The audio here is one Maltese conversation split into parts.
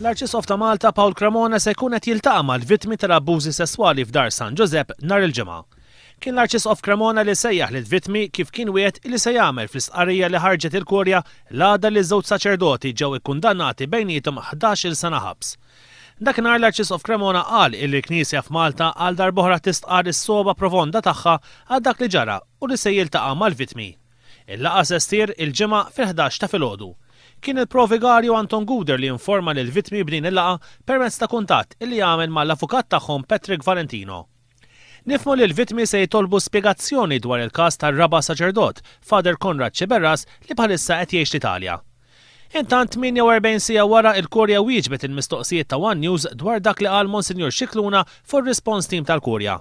L-Arċisqof ta' Malta Paul Cremona se jkun qed jiltaqa' mal-vittmi tal-abbużi sesswali f'Dar San Ġużepp nhar il-Ġimgħa. Kien l-Arċisqof Cremona li sejjaħ lill-vittmi kif kien wiegħed li se jagħmel fl-istqarrija li ħarġet il-Kurja l-għada li ż-żewġ saċerdoti ġew ikkundannati bejniethom 11-il sena ħabs. Dakinhar l-Arċisqof Cremona qal illi l-Knisja f'Malta għal darb'oħra tistqarr is-sogħba profonda tagħha għal dak li ġara u li se jiltaqa' mal-vittmi. Il-laqgħa se ssir il-Ġimgħa fil-11 ta' filgħodu. Kien il-Pro-Vigarju Anton Gouder li informa lill-vittmi b'din il-laqgħa permezz ta' kuntatt illi għamel mal-avukat tagħhom Patrick Valentino. Nifhmu li l-vittmi se jitolbu spjegazzjoni dwar il-każ tar-raba' saċerdot, Father Konrad Sciberras li bħalissa qed jgħix l-Italja. Intant 48 siegħa wara il-Kurja wieġbet il-mistoqsijiet ta' one News dwar dak li qal Monsinjur Scicluna fuq ir-response team tal-Kurja.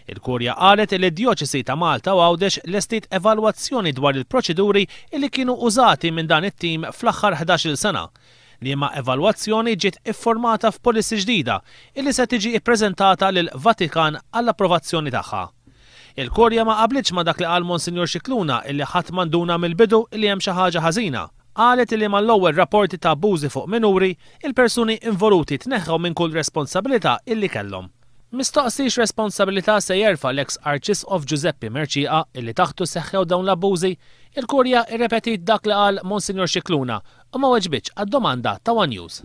Il-Kurja qalet li d-Djoċesi ta' Malta u Għawdex lestiet evalwazzjoni dwar il-proċeduri li kienu użati minn dan it-tim fl-aħħar 11-il sena, liema evalwazzjoni ġiet iffurmata f'policy ġdida illi se tiġi ppreżentata lill-Vatikan għall-approvazzjoni tagħha. Il-Kurja ma qablitx ma' dak li qal Monsinjur Scicluna illi ħadd ma nduna mill-bidu illi hemm xi ħaġa ħażina. Qalet illi mal-ewwel rapporti ta' abbużi fuq minuri, il-persuni involuti tneħħew minn kull responsabilità illi kellhom. Mistoqsi x'responsabilità se jerfa' l-eks Arċisqof Ġużeppi Mercieca illi taħtu seħħew dawn l-abbużi, il-Kurja rrepetiet dak li qal Monsinjur Scicluna u ma weġbitx għad-domanda ta' one News.